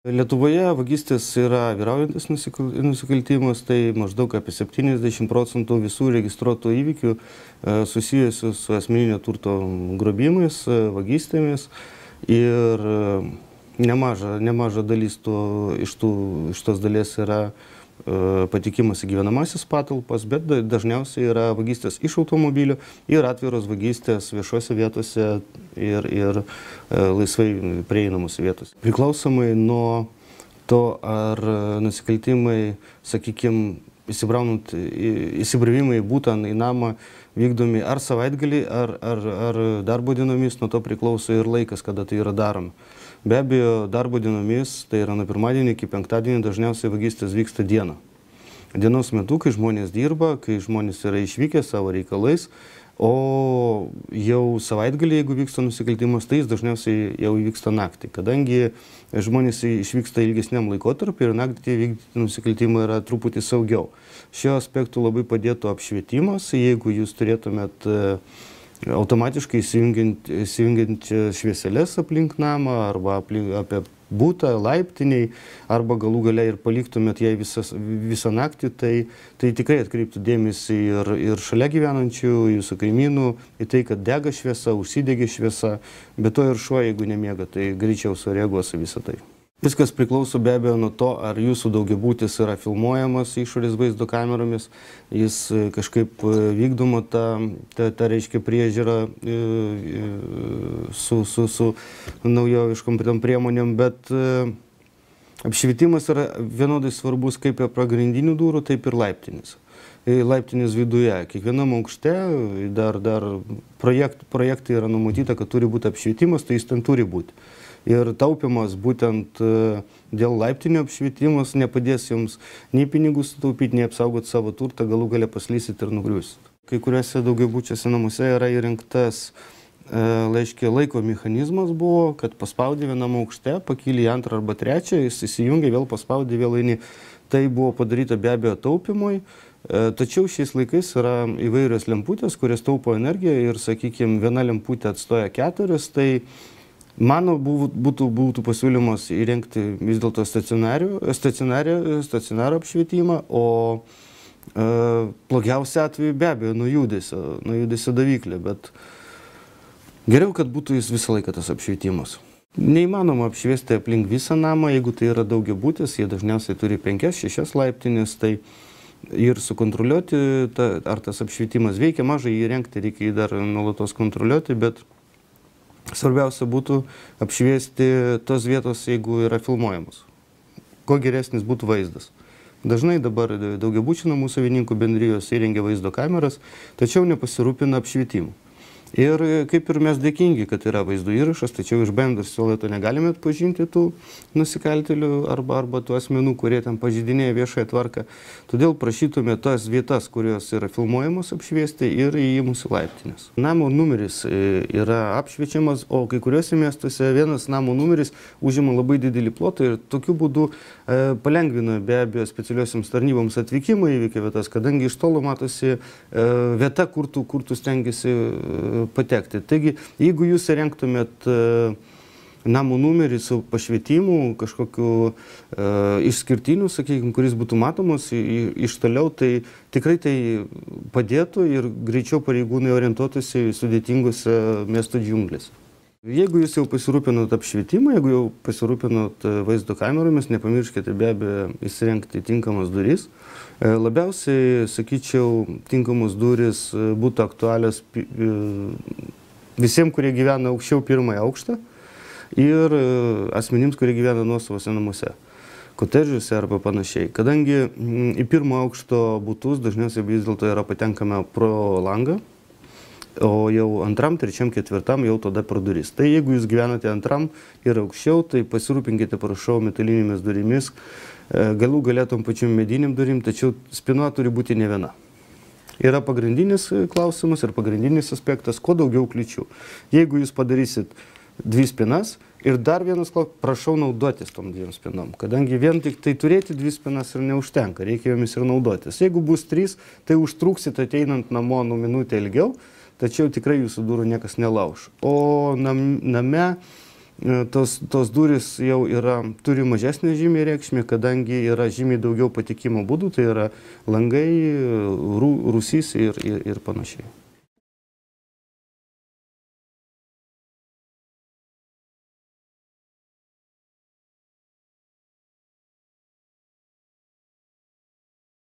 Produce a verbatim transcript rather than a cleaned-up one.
Lietuvoje vagystės yra vyraujantis nusikaltimas, tai maždaug apie septyniasdešimt procentų visų registruotų įvykių susijusių su asmeninio turto grobimais, vagystėmis ir nemaža, nemaža dalis to, iš, tų, iš tos dalies yra patikimas į gyvenamasis patalpas, bet dažniausiai yra vagystės iš automobilių ir atviros vagystės viešose vietose ir, ir laisvai prieinamose vietose. Priklausomai nuo to, ar nusikaltimai, sakykime, įsibravimai būtent į namą vykdomi ar savaitgalį, ar, ar, ar darbo dienomis, nuo to priklauso ir laikas, kada tai yra daroma. Be abejo, darbo dienomis, tai yra nuo pirmadienio iki penktadienio, dažniausiai vagystės vyksta dieną. Dienos metu, kai žmonės dirba, kai žmonės yra išvykę savo reikalais, o jau savaitgalį, jeigu vyksta nusikaltimas, tai jis dažniausiai jau vyksta naktį. Kadangi žmonės išvyksta ilgesniam laikotarpiu ir naktį vykdyti nusikaltimą yra truputį saugiau. Šiuo aspektu labai padėtų apšvietimas, jeigu jūs turėtumėt automatiškai įsijungiant švieselės aplink namą arba aplink, apie būtą, laiptiniai, arba galų gale ir paliktumėt jai visas, visą naktį, tai, tai tikrai atkreiptų dėmesį ir, ir šalia gyvenančių, jūsų kaimynų, į tai, kad dega šviesa, užsidegė šviesa, bet to ir šuo, jeigu nemiega, tai greičiau sureaguos į visą tai. Viskas priklauso be abejo nuo to, ar jūsų daugiabutis yra filmuojamas išorės vaizdo kameromis, jis kažkaip vykdoma ta, ta, ta reiškia priežiūra su, su, su naujoviškom priemonėm, bet apšvietimas yra vienodai svarbus kaip ir pagrindinių durų, taip ir laiptinės. Laiptinės viduje. Kiekvienam aukšte dar, dar projekt, projektai yra numatyta, kad turi būti apšvietimas, tai jis ten turi būti. Ir taupimas būtent dėl laiptinio apšvietimas nepadės jums nei pinigų sutaupyti, nei apsaugoti savo turtą, galų gale paslysit ir nugriusit. Kai kuriuose daugiabučiuose namuose yra įrengtas, laiškia, laiko mechanizmas buvo, kad paspaudė vienam aukšte, pakyli į antrą arba trečią, jis įsijungia, vėl paspaudė, vėl eini. Tai buvo padaryta be abejo taupimui, tačiau šiais laikais yra įvairios lemputės, kurios taupo energiją ir, sakykime, viena lemputė atstoja keturias, tai mano būtų, būtų pasiūlymas įrengti vis dėlto stacionarų apšvietimą, o e, blogiausia atveju be abejo nuo judesio, nuo judesio daviklė, bet geriau, kad būtų jis visą laiką tas apšvietimas. Neįmanoma apšviesti aplink visą namą, jeigu tai yra daugiabutis, jie dažniausiai turi penkias, šešias laiptinės, tai ir sukontroliuoti, ta, ar tas apšvietimas veikia, mažai įrengti, reikia jį dar nuolatos kontroliuoti, bet svarbiausia būtų apšviesti tos vietos, jeigu yra filmuojamos. Kuo geresnis būtų vaizdas. Dažnai dabar daugiabučių namų savininkų bendrijos įrengia vaizdo kameras, tačiau nepasirūpina apšvietimu. Ir kaip ir mes dėkingi, kad yra vaizdo įrašas, tačiau iš bendros suolato negalime atpažinti tų nusikaltėlių arba, arba tų asmenų, kurie ten pažeidinėja viešąją tvarką. Todėl prašytume tas vietas, kurios yra filmuojamos, apšviesti ir į mūsų laiptinės. Namo numeris yra apšviečiamas, o kai kuriuose miestuose vienas namo numeris užima labai didelį plotą ir tokiu būdu e, palengvina be abejo specialiosiams tarnyboms atvykimą į įvykio vietas, kadangi iš tolo matosi e, vieta, kur tu, kur tu stengiasi e, patekti. Taigi, jeigu jūs įrengtumėt namų numerį su pašvietimu, kažkokiu e, išskirtiniu, sakykime, kuris būtų matomas iš toliau, tai tikrai tai padėtų ir greičiau pareigūnai orientuotųsi sudėtingose miesto džiunglėse. Jeigu jūs jau pasirūpinot apšvietimą, jeigu jau pasirūpinot vaizdo kameromis, nepamirškite be abejo įsirengti tinkamas duris. Labiausiai, sakyčiau, tinkamos duris būtų aktualios visiems, kurie gyvena aukščiau pirmąją aukštą ir asmenims, kurie gyvena nuosavose namuose, kotedžuose arba panašiai. Kadangi į pirmo aukšto butus dažniausiai vis dėlto yra patenkama pro langą, o jau antram, trečiam, ketvirtam jau tada pro duris. Tai jeigu jūs gyvenate antram ir aukščiau, tai pasirūpinkite, prašau, metalinėmis durimis, galų galėtum pačiom mediniam durim, tačiau spyna turi būti ne viena. Yra pagrindinis klausimas ir pagrindinis aspektas, kuo daugiau kliūčių. Jeigu jūs padarysit dvi spynas ir dar vienas klausimas, prašau naudotis tom dviem spynom, kadangi vien tik tai turėti dvi spynas ir neužtenka, reikia jomis ir naudotis. Jeigu bus trys, tai užtruksit ateinant namo nu minutę ilgiau, tačiau tikrai jūsų durų niekas nelauš. O nam, name tos, tos durys jau yra, turi mažesnę žymiai reikšmę, kadangi yra žymiai daugiau patekimo būdų, tai yra langai, rū, rūsys ir, ir, ir panašiai.